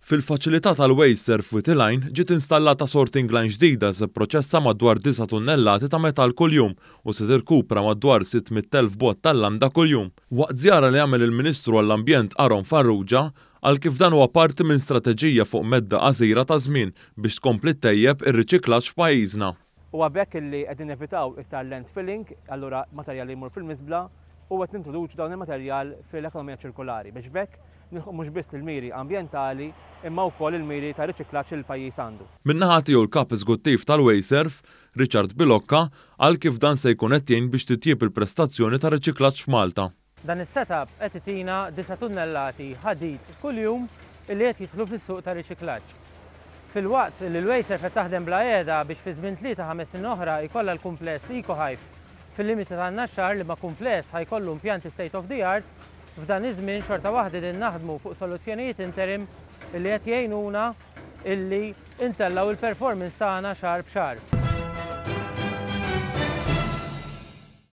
Fil-faċilità tal-WasteServ f'Wied il-Għajn ġiet installata sorting line ġdida li se pproċessa madwar disa' tunnellati ta' metall kuljum u se tirkupra madwar 600,000 bott tal-landa kuljum. Waqt żjara li għamel il-Ministru għall-Ambjent Aaron Farrugia qal kif dan huwa parti minn strateġija fuq medda qasira ta' żmien biex tkompli ttejjeb ir-riċiklaġġ f'pajjiżna. Huwa b'hekk illi qegħdin nevitaw iktar landfilling, allura materjal li jmur fil-miżbla, u qed nintroduċu dawn il-materjal fil-ekonomija ċirkolari biex b'hekk nilħqu mhux biss il-miri ambjentali imma wkoll il-miri ta' riċiklaġġ li l-pajjiż għandu. Min-naħa tiegħu l-Kap Eżekuttiv tal-Wasteserv, Richard Bilocca, qal kif dan se jkun qed jgħin biex titjieb il-prestazzjoni tar-riċiklaġġ f'Malta. Dan is-setup qed itina disa' tunnellati ħadid kuljum illi qed jidħlu fis-suq ta' riċiklaġġ. Filwaqt li l-Wasteserv qed taħdem bla qiegħda biex fi żmien tlieta ħames snin oħra jkollha l-kumpless EcoHive fil-limiti tan-Naxxar liema kumpless ħa jkollu impjanti state of the art, f'dan iż-żmien xorta waħda qegħdin naħdmu fuq soluzzjonijiet interim illi qed jgħinuna illi ntellgħu l-performance tagħna xahar b'xahar.